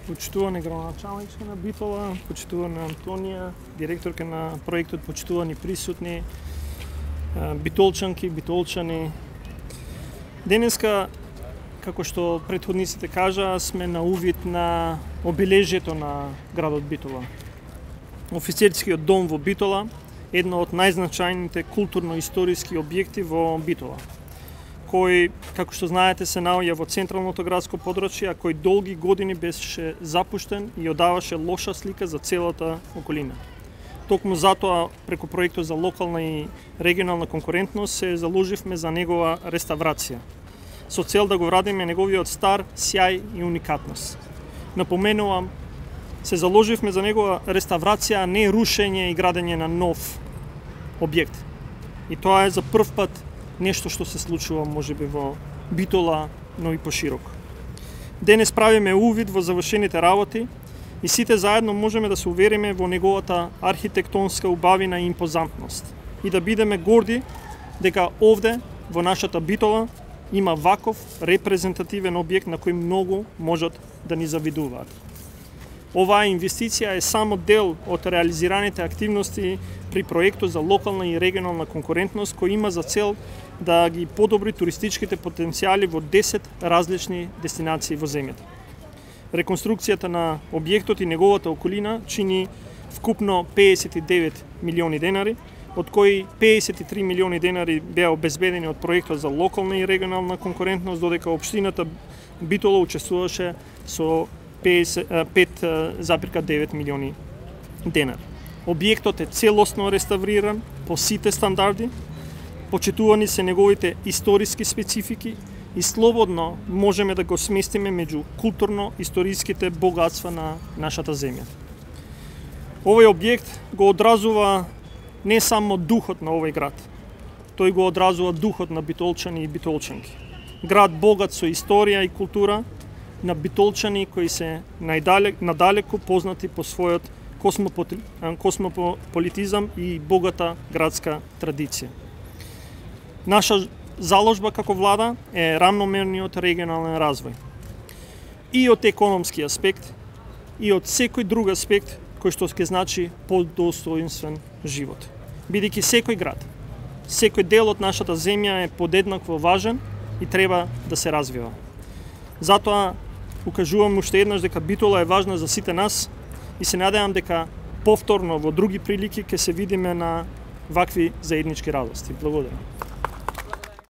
Почитувани градоначалничка на Битола, почитувана Антонија, директорка на проектот, почитувани присутни, битолчанки, битолчани. Денеска, како што претходниците кажа, сме на увид на обележјето на градот Битола. Офицерскиот дом во Битола, едно од најзначајните културно-историски објекти во Битола, кој, како што знаете, се наоѓа во централното градско подрачје, а кој долги години беше запуштен и одаваше лоша слика за целата околина. Токму затоа, преку проектот за локална и регионална конкурентност, се заложивме за негова реставрација, со цел да го врадиме неговиот стар сјај и уникатност. Напоменувам, се заложивме за негова реставрација, а не рушење и градење на нов објект. И тоа е за прв пат нешто што се случува можеби во Битола, но и пошироко. Денес правиме увид во завршените работи и сите заедно можеме да се увериме во неговата архитектонска убавина и импозантност и да бидеме горди дека овде, во нашата Битола, има ваков репрезентативен објект на кој многу можат да ни завидуваат. Оваа инвестиција е само дел од реализираните активности при проектот за локална и регионална конкурентност, кој има за цел да ги подобри туристичките потенцијали во 10 различни дестинации во земјата. Реконструкцијата на објектот и неговата околина чини вкупно 59 милиони денари, од кои 53 милиони денари беа обезбедени од проектот за локална и регионална конкурентност, додека општината Битола учествуваше со 5,9 милиони денари. Објектот е целосно реставриран по сите стандарди, почитувани се неговите историски специфики и слободно можеме да го сместиме меѓу културно-историските богатства на нашата земја. Овој објект го одразува не само духот на овој град, тој го одразува духот на битолчани и битолчанки. Град богат со историја и култура, на битолчани кои се надалеку познати по својот космополитизам и богата градска традиција. Наша заложба како влада е рамномерниот регионален развој. И од економски аспект, и од секој друг аспект кој што ќе значи подостоинствен живот. Бидејќи секој град, секој дел од нашата земја е подеднакво важен и треба да се развива. Затоа укажувам уште еднаш дека Битола е важна за сите нас и се надевам дека повторно во други прилики ќе се видиме на вакви заеднички радости. Благодарам.